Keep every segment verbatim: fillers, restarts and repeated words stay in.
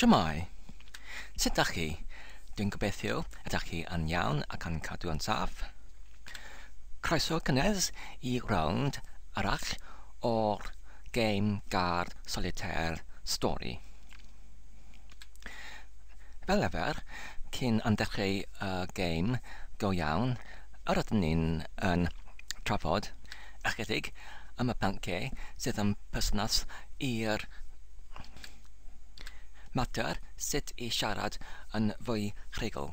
Shwmae? Sut dach chi? Dwi'n gobeithio ydach chi yn iawn ac yn cadw yn saff. Croeso cynnes i rownd arall o'r game guard solitaire stori. Fel arfer, cyn yn dechrau y game go iawn, yr ydyn ni'n yn trafod ychydig am y pynciau sydd yn perthynas i'r mater sut i siarad yn fwy rhugl.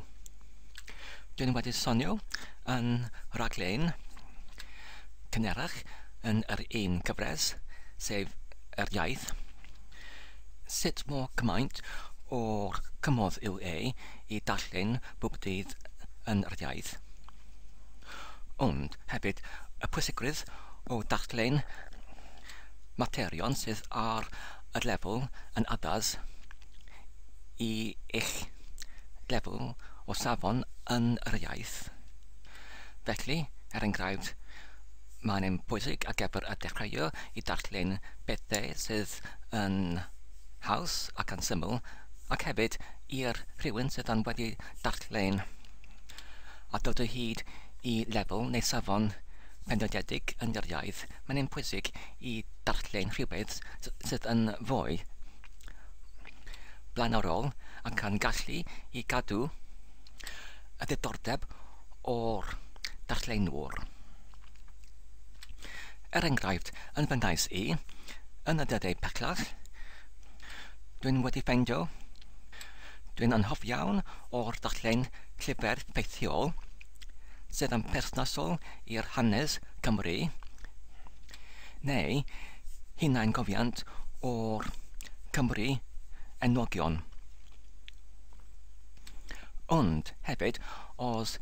Dwi'n wedi sonio yn rhaglen cynharach yn yr un cyfres, sef yr iaith, sut mor cymaint o'r cymorth yw e i darllen bob dydd yn yr iaith. Ond hefyd y pwysigrwydd o darllen materion sydd ar y lefel yn addas i eich lefel o safon yn yr iaith. Felly, er enghraifft, mae'n bwysig ar gyfer y dechreuwr i darllen pethau sydd yn haws ac yn syml, ac hefyd i'r rhywun sydd yn wedi darllen a dod o hyd i lefel neu safon penodedig yn yr iaith, mae'n pwysig i darllen rhywbeth sydd yn fwy blaenorol ac yn gallu i gadw y ddiddordeb o'r darllenwr. Er enghraifft, yn fy nghais i, yn y dyddiau pellach, dwi'n wedi ffeindio, dwi'n yn hoff iawn o'r darllen llyfr ffeithiol sydd yn perthnasol i'r hanes Cymru, neu hunangofiant o'r Cymru enwogion. Ond hefyd, os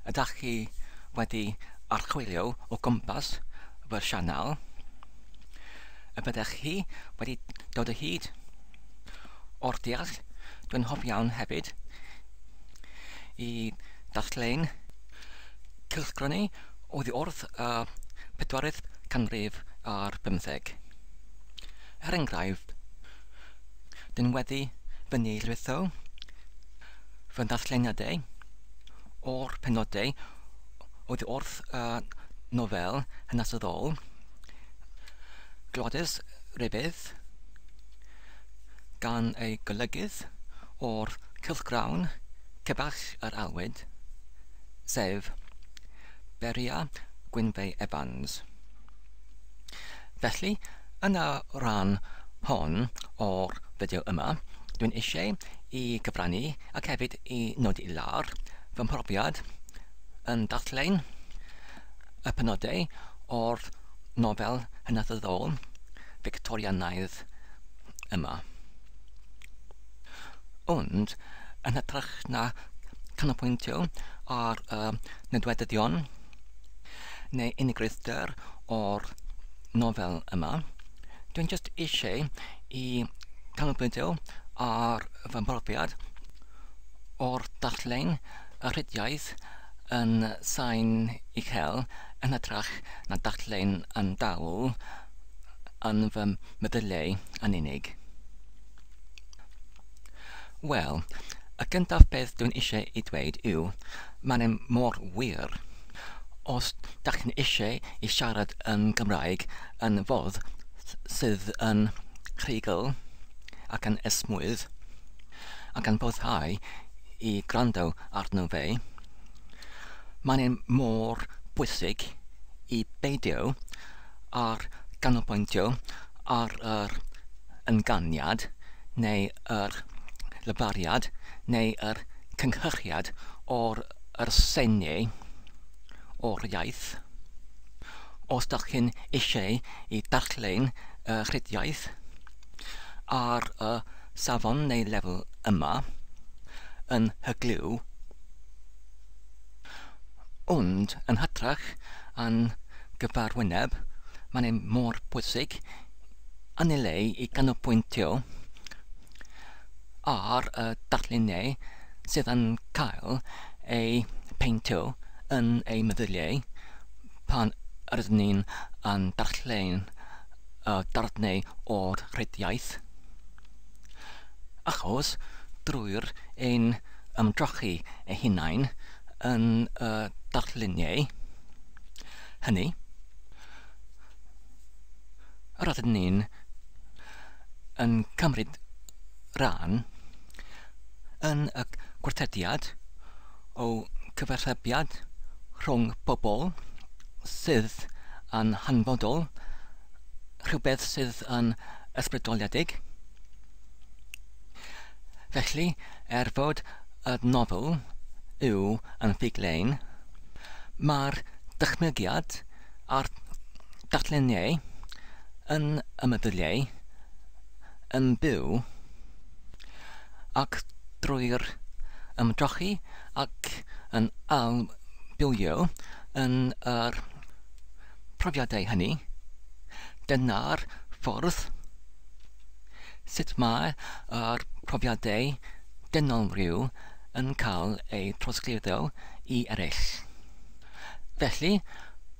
ydych chi wedi archwilio o gwmpas fy sianel, y byddech chi wedi dod o hyd o'r deall, dwi'n hoff iawn hefyd i darllen cylchgronau oddi wrth y pedwaredd canrif ar bymtheg. Er enghraifft, dwi'n wedi fyny lwytho fy darlleniadau o'r penodau oddi wrth y nofel hanesyddol Gwladys Rybydd gan ei golygydd o'r cylchgrawn Cebach yr Alwyd, sef Beria Gwynfe Evans. Felly, yn y rhan hon o'r fideo yma, dwi'n eisiau i gyfrannu ac hefyd i nodi i lawr fy mhrofiad yn darllen y penodau o'r nofel hanesyddol Victorianaidd yma. Ond, yn hytrach na canolbwyntio ar y nodweddion neu unigrwydd o'r nofel yma, dwi'n jyst eisiau i canolbwyntio ar fy mhrofiad o'r darllen y rhediaeth yn sain uchel yn hytrach na darllen yn dawel yn fy meddyliau yn unig. Wel, y gyntaf beth dwi'n eisiau i dweud yw, mae'n mor wir. Os dach chi'n eisiau i siarad yn Gymraeg yn fodd sydd yn rhugl ac yn esmwyth ac yn boddhau i gwrando arno fe, mae'n mor bwysig i beidio ar ganolbwyntio ar yr ynganiad neu yr lefariad neu yr cynhyrchiad o'r yr seiniau o'r iaith. Os dach chi'n eisiau i darllen y rhediaeth ar y safon neu lefel yma yn hyglyw, ond yn hytrach yn gyfarwyneb, mae'n mor bwysig yn ei le i ganolbwyntio ar y darluniau sydd yn cael ei peintio yn ei meddyliau pan ydyn ni'n yn darllen y darnau o'r rhediaeth. Achos drwy'r ein ymdrochi eu hunain yn y darluniau hynny, yr ydyn ni'n yn cymryd rhan yn y gwerthediad o cyfathrebiad rhwng pobl sydd yn hanfodol, rhywbeth sydd yn ysbrydoliedig. Felly, er fod y nofel yw yn ffuglen, mae'r dychmygiad a'r darluniau yn y meddyliau yn byw, ac drwy'r ymdrochi ac yn ailbywio yn yr profiadau hynny, dyna'r ffordd sut mae yr profiadau dynol rhyw yn cael eu trosglwyddo i eraill. Felly,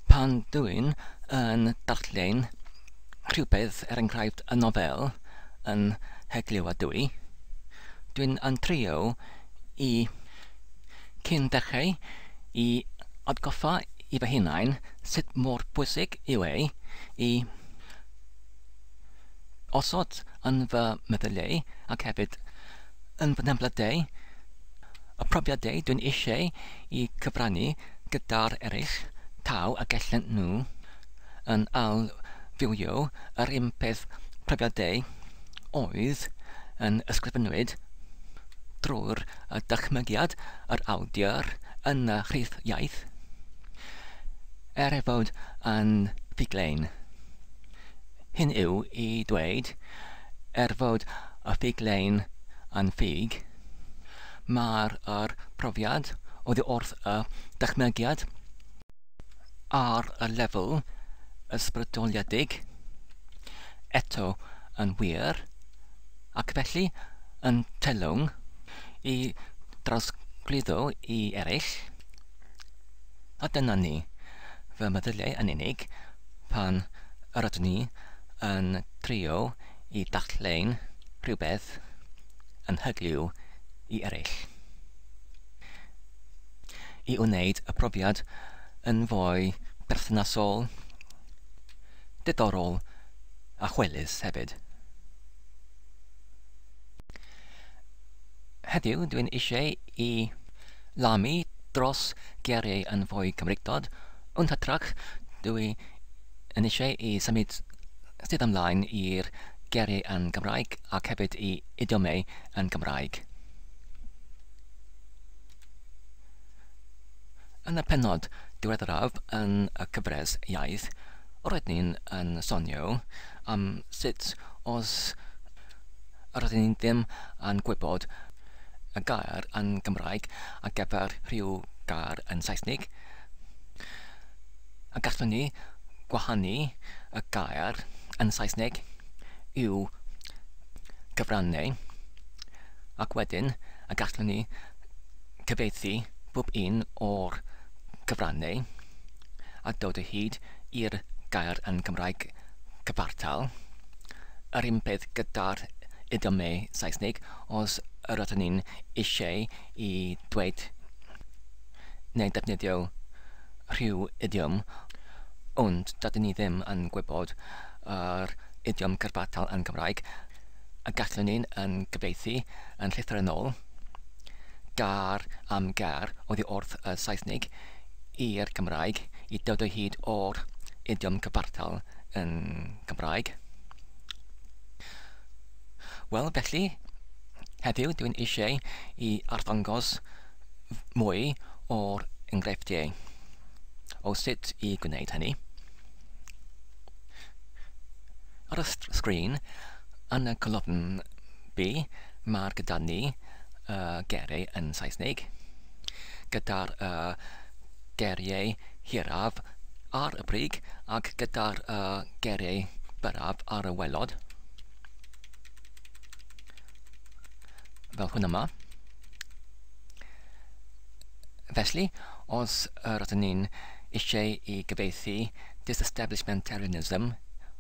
pan dwi'n yn darllen rhywbeth, er enghraifft y nofel yn heglywadwy, dwi'n yn trio i cyn dechrau i atgoffa i fy hunain sut mor bwysig yw e i osod yn fy meddyliau ac hefyd yn fy nheimladau y profiadau dwi'n eisiau i cyfrannu gyda'r eraill taw a gallen nhw yn ailfywio yr un peth profiadau oedd yn ysgrifennwyd drwy'r dychmygiad yr awdur yn y rhith iaith, er ei fod yn ffuglen. Hyn yw i dweud, er fod y ffuglen yn ffug, mae'r yr profiad oddi wrth y dychmygiad ar y lefel ysbrydoliedig eto yn wir, ac felly yn teilwng i drosglwyddo i eraill. A dyna ni, fy meddyliau yn unig, pan yr ydyn ni yn trio i darllen rhywbeth yn hyglyw i eraill. I wneud y profiad yn fwy perthnasol, diddorol a chwelus hefyd. Heddiw dwi'n eisiau i lamu dros geiriau yn fwy Cymreictod, ond hytrach dwi yn eisiau i symud sydd ymlaen i'r geiriau yn Gymraeg ac hefyd i idiomau yn Gymraeg. Yn y pennod diweddaraf yn y cyfres iaith, roedden ni'n yn sonio am sut os roedden ni ddim yn gwybod y gair yn Gymraeg ar gyfer rhyw gair yn Saesneg, a gallwn ni gwahanu y gair yn Saesneg i'w cyfrannau, ac wedyn a gallwn ni cyfieithu bob un o'r cyfrannau a dod o hyd i'r gair yn Gymraeg cyfartal. Yr un peth gyda'r idiomau Saesneg, os yr ydyn ni'n eisiau i dweud neu defnyddio rhyw idiom, ond dydyn ni ddim yn gwybod yr idiom cyfartal yn Gymraeg, a gallwn ni'n yn gyfieithu yn llythrennol gair am gair oddi wrth y Saesneg i'r Cymraeg i dod o hyd o'r idiom cyfartal yn Gymraeg. Wel, felly, heddiw dwi'n eisiau i arddangos mwy o'r enghreifftiau o sut i gwneud hynny. Ar y sgrin, yn y colofn B, mae'r gyda ni uh, geiriau yn Saesneg, gyda'r uh, geiriau hiraf ar y brig ac gyda'r uh, geiriau byrraf ar y waelod, fel hwn yma. Felly, os yr ydyn ni'n eisiau i gyfieithu disestablishmentarianism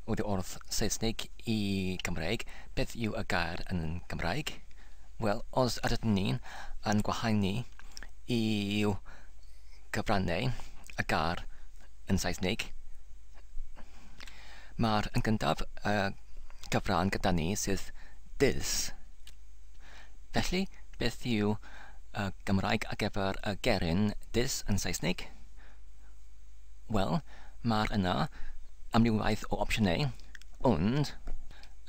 oddi wrth Saesneg i Gymraeg, beth yw y gair yn Gymraeg? Wel, os ydyn ni'n yn gwahanu i'w cyfrannau y gair yn Saesneg, mae'r yn gyntaf y cyfran gyda ni sydd dis. Felly, beth yw y Gymraeg ar gyfer y geryn dis yn Saesneg? Wel, mae'r yna amrywiaeth o opsiynau, ond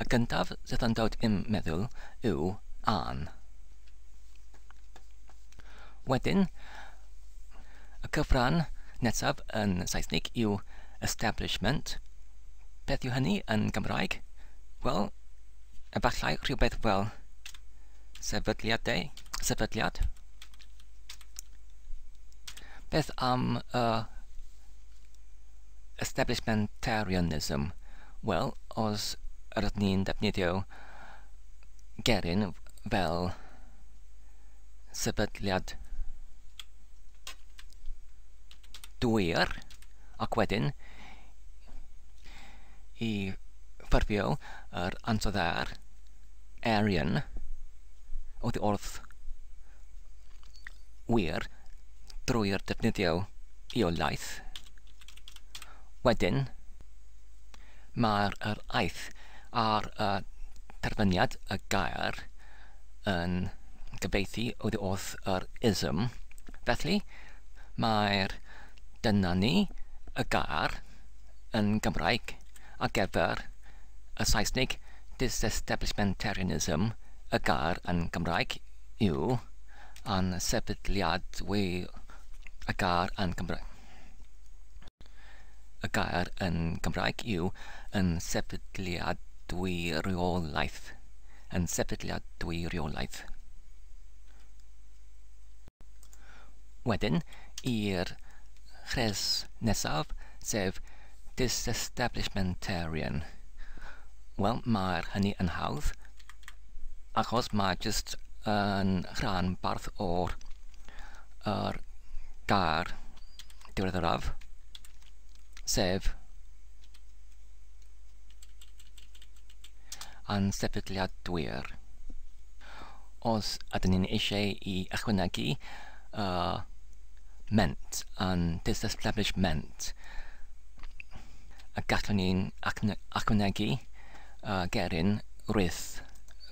y gyntaf sydd yn dod i'm meddwl yw an. Wedyn, y cyfran nesaf yn Saesneg yw establishment. Beth yw hynny yn Gymraeg? Wel, efallai rhywbeth fel sefydliadau, sefydliad. Beth am y uh, establishmentarianism? Wel, os ydyn ni'n defnyddio geryn fel sefydliad dwyr, ac wedyn i ffurfio yr ansoddair Aryan oddi wrth wir drwy'r defnyddio iolaeth. Wedyn, mae'r yr aeth ar y terfyniad y gair yn gyfieithu oddi wrth yr ism. Felly, mae'r dyna ni y gair yn Gymraeg ar gyfer y Saesneg disestablishmentarianism. Y gair yn Gymraeg yw ansefydliadwy. Y gair yn Gymraeg. Y gair yn Gymraeg yw yn sefydliadwyriolaeth. Yn sefydliadwyriolaeth. Wedyn, i'r rhes nesaf, sef disestablishmentarian. Wel, mae'r hynny yn hawdd, achos mae jyst yn rhan barth o'r yr gair diweddaraf, sef ansefydliadwyr. Os ydyn ni'n eisiau i ychwanegu uh, ment, an disestablishment, a gallwn ni'n ychwanegu uh, geryn rwyth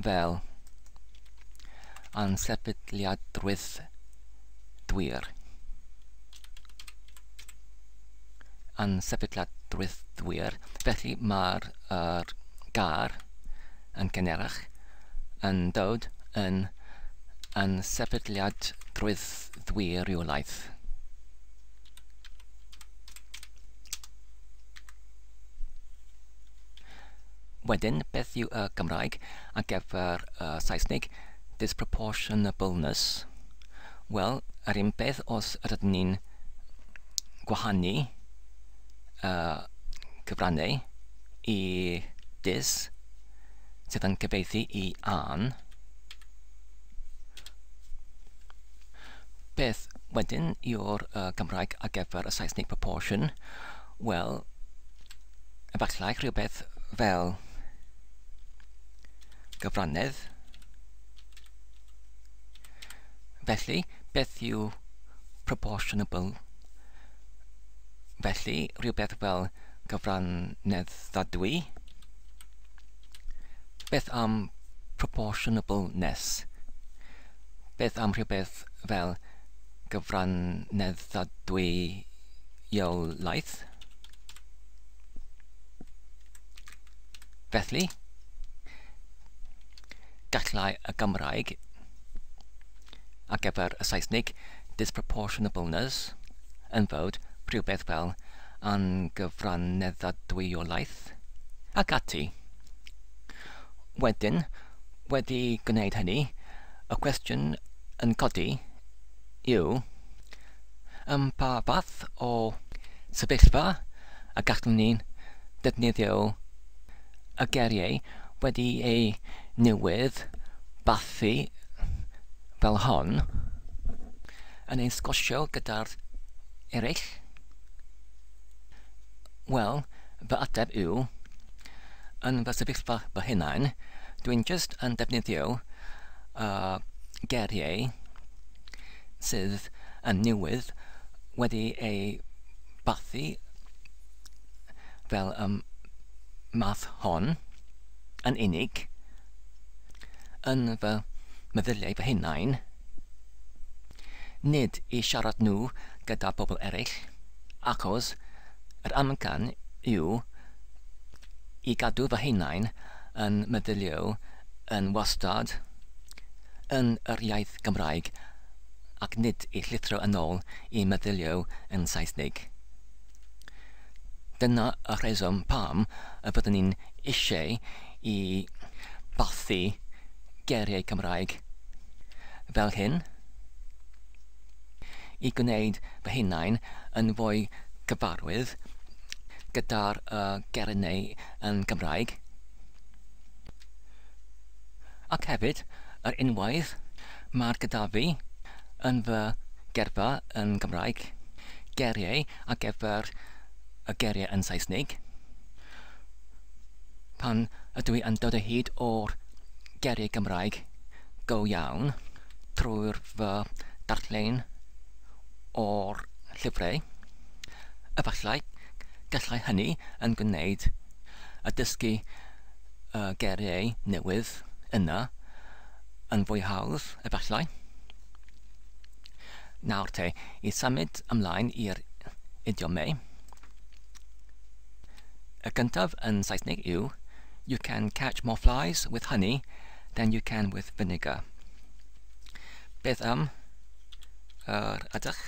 fel ansefydliadrwydd dwyr. Ansefydliadrwydd dwyr. Felly mae'r er gair yn gynharach yn dod yn ansefydliadrwydd ddwyriolaeth. Wedyn, beth yw y Gymraeg ar gyfer y Saesneg disproportionableness? Wel, yr un peth os ydyn ni'n gwahanu uh, cyfrannau i dis sydd yn cyfieithu i an. Beth wedyn yw'r uh, Gymraeg ar gyfer y Saesneg proportion? Wel, efallai rhywbeth fel gyfrannedd. Felly, beth yw proportionable? Felly, rhywbeth fel gyfranneddadwy. Beth am proportionableness? Beth am rhywbeth fel gyfranneddadwyolaeth? Felly, gallai y Gymraeg ar gyfer y Saesneg disproportionableness yn fod rhywbeth fel angyfranneddadwyolaeth ac ati. Wedyn, wedi gwneud hynny, y cwestiwn yn codi yw ym pa fath o sefyllfa y gallwn ni defnyddio y geiriau wedi eu newydd bathu fel hon yn ein sgwrsio gyda'r eraill? Wel, fy ateb yw, yn fy sefyllfa fy hunain, dwi'n jyst yn defnyddio uh, geiriau sydd yn newydd wedi ei bathu fel y math hon yn unig yn fy meddyliau fy hunain, nid i siarad nhw gyda pobl eraill, achos yr amcan yw i gadw fy hunain yn meddylio yn wastad yn yr iaith Gymraeg ac nid i llithro yn ôl i meddylio yn Saesneg. Dyna y rheswm pam y byddwn ni'n eisiau i bathu geiriau Cymraeg fel hyn, i gwneud fy hunain yn fwy cyfarwydd gyda'r uh, geiriau yn Gymraeg. Ac hefyd, yr unwaith mae'r gyda fi yn fy gerfa yn Gymraeg, geiriau ar gyfer y geiriau yn Saesneg. Pan ydw i yn dod o hyd o'r geiriau Gymraeg go iawn trwy'r fy darllen o'r llyfrau, efallai gallai hynny yn gwneud y dysgu y geiriau newydd yna yn fwy hawdd, efallai. Nawr te, i symud ymlaen i'r idiomau. Y gyntaf yn Saesneg yw "You can catch more flies with honey than you can with vinegar." Beth am yr ydych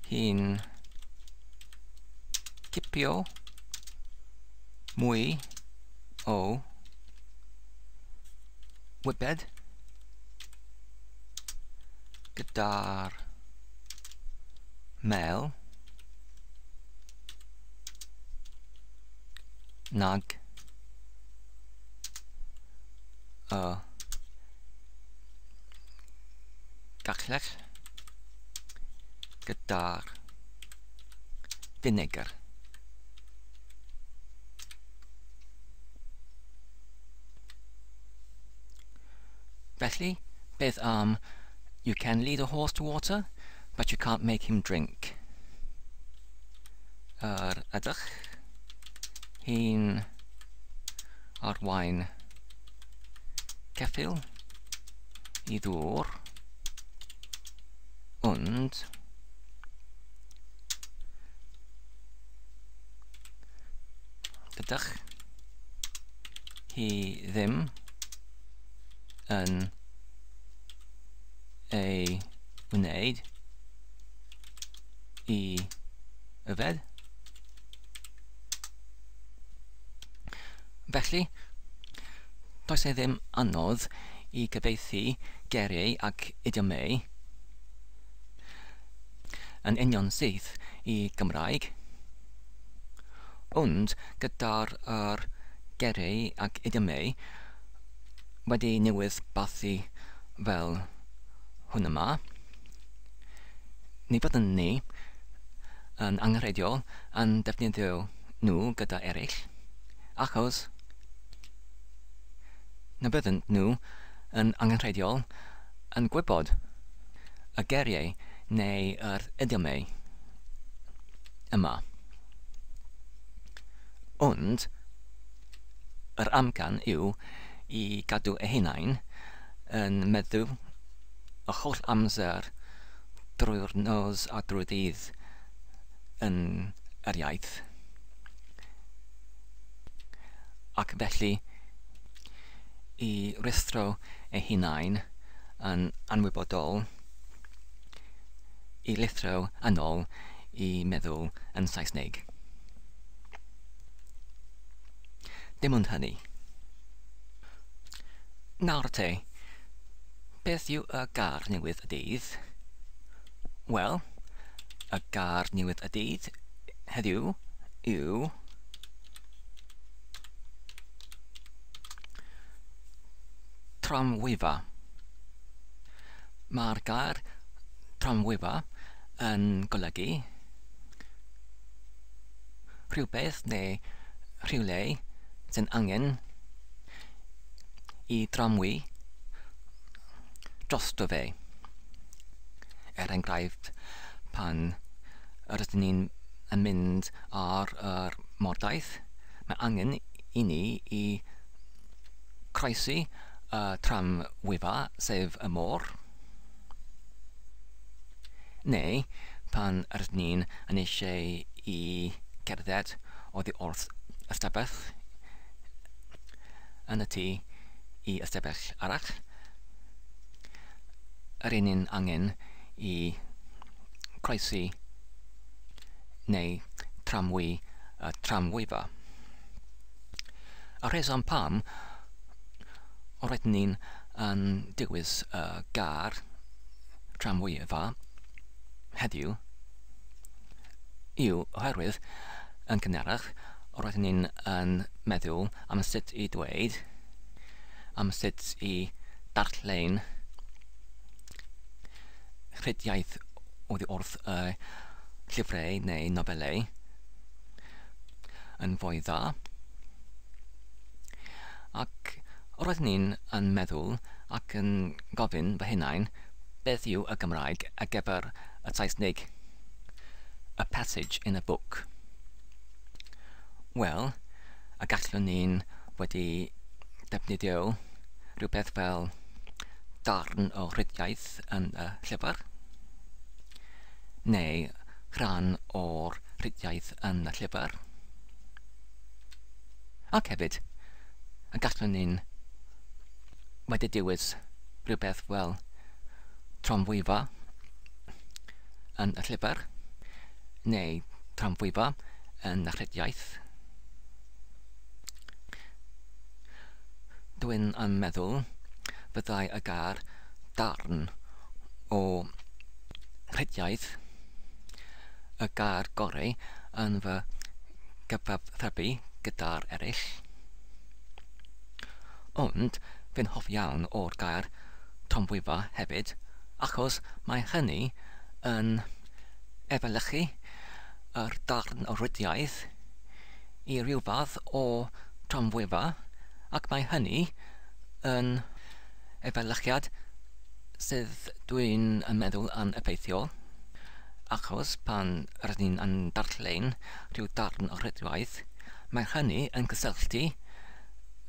hi'n cipio mwy o wybed gyda'r mel nag y gallech gyda'r finegr? Felly, beth am "You can lead a horse to water, but you can't make him drink"? Yr ydych hi'n arwain ceffyl i ddŵr, ond dydych hi ddim yn ei wneud i yfed? Felly, does e ddim anodd i gyfieithu geiriau ac idiomau yn union syth i Gymraeg, ond gyda'r yr geiriau ac idiomau wedi newydd bathu fel hwn yma, ni fyddwn ni yn angenrheidiol yn defnyddio nhw gyda eraill, achos na bydden nhw yn angenrheidiol yn gwybod y geiriau neu yr idiomau yma. Ond yr amcan yw i gadw eu hunain yn meddwl y holl amser drwy'r nos a drwy'r dydd yn yr iaith. Ac felly i ruthro eu hunain yn anwybodol i lithro yn ôl i meddwl yn Saesneg. Dim ond hynny. Nawr te, beth yw y gair newydd y dydd? Wel, y gair newydd y dydd heddiw yw tramwyfa. Mae'r gair tramwyfa yn golygu rhywbeth neu rhywle sy'n angen i dramwy drosto fe. Er enghraifft, pan rydyn ni'n yn mynd ar yr mordaith, mae angen i ni i croesi y tramwyfa, sef y môr. Neu pan rydyn ni'n yn eisiau i gerdded oddi wrth ystafell yn y tŷ i ystafell arall, yr un ni'n angen i croesi neu tramwy y tramwyfa. Y rheswm pam roedden ni'n yn dewis y gair tramwyfa heddiw yw oherwydd yn gynharach roedden ni'n yn meddwl am sut i dweud, am sut i darllen rhediaeth oddi wrth y llyfrau neu nofelau yn fwy dda. Ac roeddwn ni'n yn meddwl ac yn gofyn fy hunain beth yw y Gymraeg ar gyfer y Saesneg, a passage in a book. Wel, a gallwn ni'n wedi defnyddio rhywbeth fel darn o rhediaeth yn y llyfr, neu rhan o'r rhediaeth yn y llyfr. Ac hefyd, a gallwn ni'n wedi dewis rhywbeth fel tramwyfa yn y llyfr, neu tramwyfa yn y rhediaeth. Dwi'n yn meddwl fyddai y gair darn o rhediaeth y gair gorau yn fy gyfathrebu gyda'r eraill. Ond fi'n hoff iawn o'r gair tramwyfa hefyd, achos mae hynny yn efelychu yr darn o rhediaeth i ryw fath o tramwyfa, ac mae hynny yn efelychiad sydd dwi'n yn meddwl yn effeithiol, achos pan rydyn ni'n yn darllen rhyw darn o rhediaeth, mae hynny yn cysylltu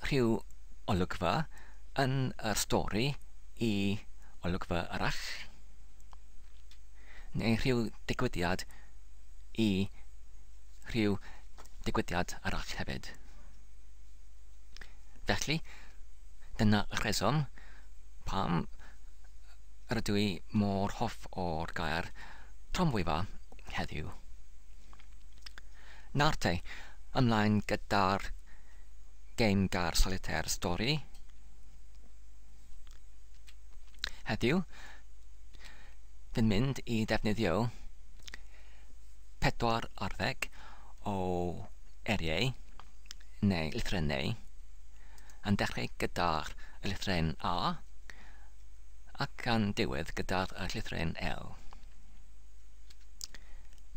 rhyw olygfa yn yr stori i olygfa arall, neu rhyw digwyddiad i rhyw digwyddiad arall hefyd. Felly, dyna y rheswm pam rydw i mor hoff o'r gair tramwyfa heddiw. Nawr te, ymlaen gyda'r gêm gair solitaire stori. Heddiw, fi'n mynd i ddefnyddio pedwar ar ddeg o eiriau neu lythrennau, yn dechrau gyda'r lythyren A ac yn diwedd gyda'r llythyren L.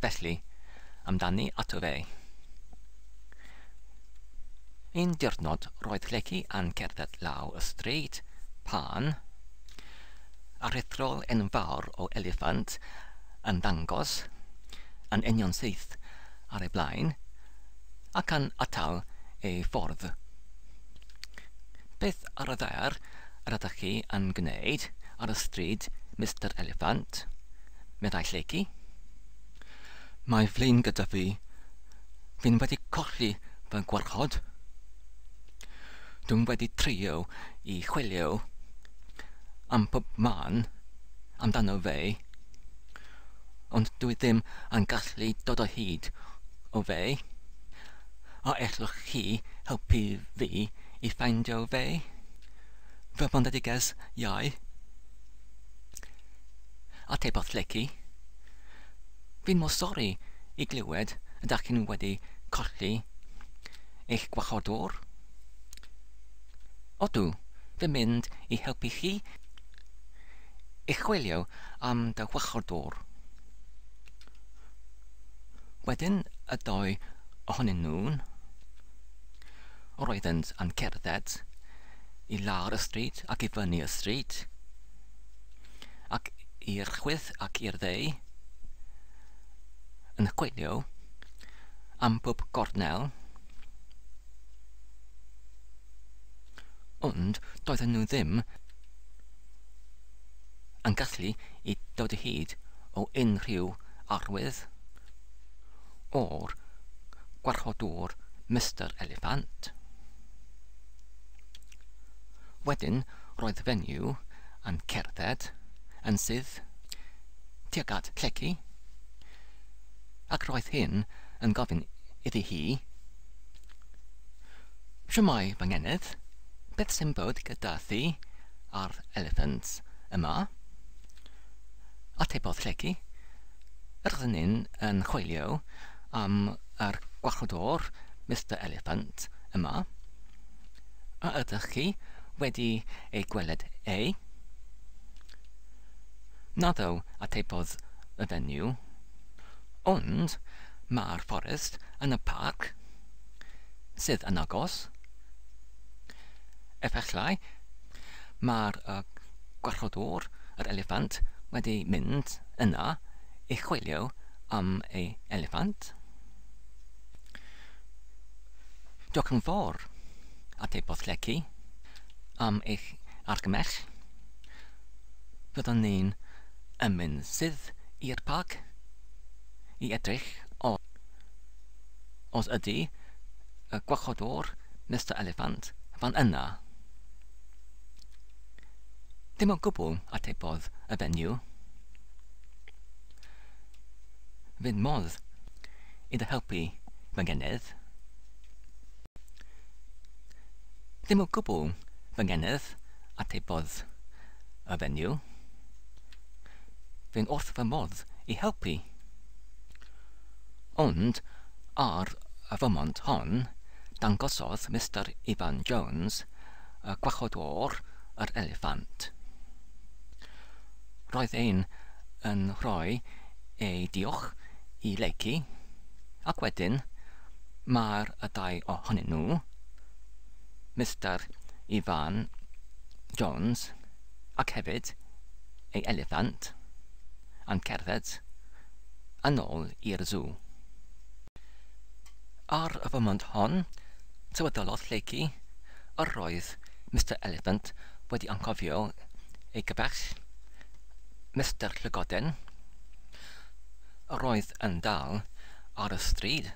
Felly, amdani ato fe. Un diwrnod roedd Lleucu yn cerdded lawr y stryd pan aruthrol enfawr o eliffant yn dangos yn union syth ar ei blaen ac yn atal ei ffordd. Beth ar y ddaear yr ydych chi yn gwneud ar y stryd, Mister Eliffant? Meddai Lleucu. Mae flin gyda fi. Fi'n wedi colli fy gwarchod. Dwi'n wedi trio i chwilio am pob man amdano fe, ond dwi ddim yn gallu dod o hyd o fe. A ellwch chi helpu fi i ffeindio fe? Fy boneddiges iau. Atebodd Lleucu. Fi'n mor sori i glywed ydych chi'n wedi colli eich gwarchodwr. Odw, fi'n mynd i helpu chi i chwilio am dy warchodwr. Wedyn y dau ohonyn nhw'n roeddent yn cerdded i lawr y stryd ac i fyny y stryd, ac i'r chwith ac i'r dde, yn chwilio am bob gornel, ond doedden nhw ddim yn gallu i dod o hyd o unrhyw arwydd o'r gwarchodwr Mister Eliffant. Wedyn roedd fenyw yn cerdded yn syth tuag at Lleucu, ac roedd hyn yn gofyn iddi hi, "Shwmae fy ngeneth, beth sy'n bod gyda thi a'r eliffant yma?" Atebodd Lleucu, "Rydyn ni'n yn chwilio am yr gwarchodwr Mister Eliffant yma. A ydych chi wedi ei gweled e?" "Naddo," atebodd y fenyw, "ond mae'r fforest yn y parc sydd yn agos. Efallai mae'r uh, gwarchodwr, yr eliffant, wedi mynd yna i chwilio am ei eliffant." "Diolch yn fawr," atebodd Lleucu, "am eich argymell. Fyddwn ni'n yn mynd syth i'r parc i edrych o os ydy y gwarchodwr Mister Eliffant fan yna." "Dim o gwbl," atebodd y fenyw. "Fydd modd i dy helpu fy ngeneth?" "Dim o gwbl, fy ngeneth," atebodd y fenyw. "Fi'n wrth fy modd i helpu." Ond ar y foment hon, dangosodd Mister Ifan Jones y gwarchodwr yr eliffant. Roedd e'n yn rhoi ei diolch i Lleucu, ac wedyn mae'r y dau ohonyn nhw, Mister Ifan Jones ac hefyd ei eliffant, yn cerdded yn ôl i'r sŵ. Ar y foment hon, sylweddolodd Lleucu yr oedd Mister Eliffant wedi anghofio ei gyfaill, Mister Llygoden, yr oedd yn dal ar y stryd.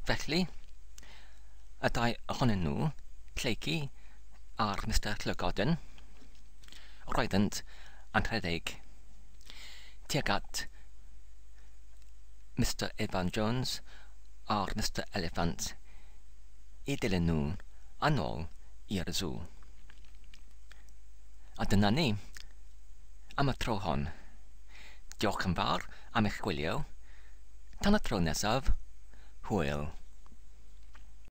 Felly, y dau ohonyn nhw, Lleucu a'r Mister Llygoden, roeddynt yn rhedeg tuag at Mister Ifan Jones a'r Mister Eliffant i dilyn nhw yn ôl i'r sŵ. A dyna ni am y tro hon. Diolch yn fawr am eich gwylio. Tan y tro nesaf, hwyl.